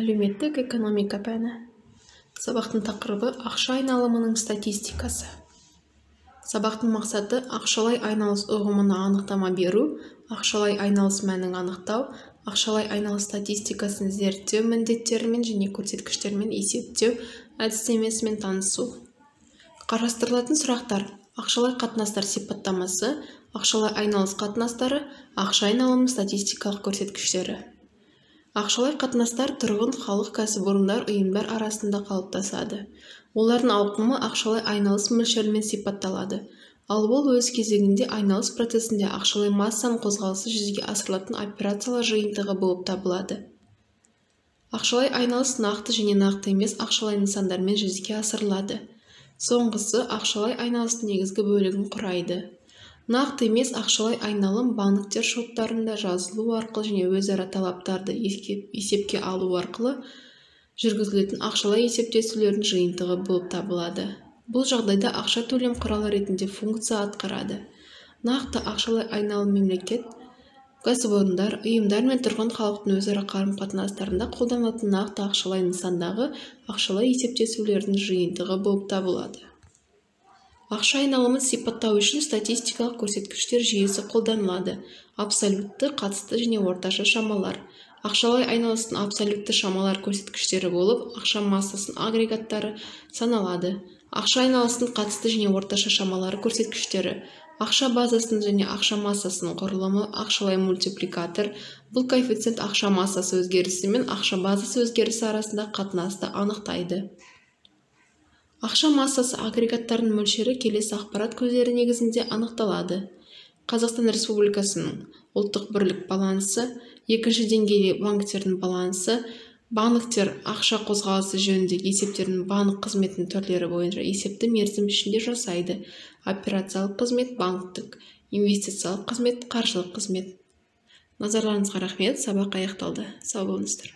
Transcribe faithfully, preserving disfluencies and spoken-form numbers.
Әлеуметтік экономика пәні. Сабақтың тақырыбы ақша айналымының статистикасы. Сабақтың мақсаты ақшалай айналыс ұғымына анықтама беру, ақшалай айналыс мәнін анықтау, ақшалай айналыс статистикасын зерттеу міндеттерімен және көрсеткіштермен есептеу әдістемесімен танысу. Қарастырылатын сұрақтар: ақшалай қатынастар сипаттамасы, ақшалай айналыс қатынастары, ақша айналымының статистикалық көрсеткіштері. Ақшалай қатынастар тұрғын, халық, кәсіпорындар, ұйымдар арасында қалыптасады. Олардың ауқымы ақшалай айналыс мөлшерімен сипатталады. Ал ол өз кезегінде айналыс процесінде ақшалай массаның қозғалысы жүзеге асырылатын операциялар жиынтығы болып табылады. Ақшалай айналыс нақты және нақты емес ақшалай нысандармен жүзеге асырылады. Соңғысы ақшалай айналыстың негізгі бөлігін құрайды. Нақты емес ақшалай айналым банктер шоттарында жазылу арқылы және өзара талаптарды есепке алу арқылы жүргізілетін ақшалай есептесулердің жиынтығы болып табылады. Бұл жағдайда ақша төлем құралы ретінде функция атқарады. Нақты ақшалай айналым мемлекет, кәсіпорындар, ұйымдар мен тұрғын халықтың өзара қарым-қатынастарында қолданылатын нақты ақшалай нысандағы ақшалай есептесулердің жиынтығы болып табылады. Ақша айналымын сипаттау үшін статистикалық көрсеткіштер жүйесі қолданылады. Абсолютті, қатысты және орташа шамалар. Ақшалай айналыстың абсолютті шамалар көрсеткіштері болып, ақша массасының агрегаттары саналады. Ақша айналыстың қатысты және орташа шамалары көрсеткіштері. Ақша базасының және ақша массасының құрылымы, ақшалай мультипликатор. Бұл коэффициент ақша массасы өзгерісі мен ақша базасы өзгерісі арасында қатынасты анықтайды. Ақша массасы агрегаттарының мөлшері келесі ақпарат көздері негізінде анықталады. Қазақстан Республикасының ұлттық бірлік балансы, екінші деңгейлі банктердің балансы, банктер ақша қозғалысы жөніндегі есептердің банк қызметінің түрлері бойынша есепті мерзім ішінде жасайды. Операциялық қызмет, банктік, инвестициялық қызмет, қаржылық қызмет. Назарларыңызға рахмет, сабақ аяқталды. Сау болыңыздар.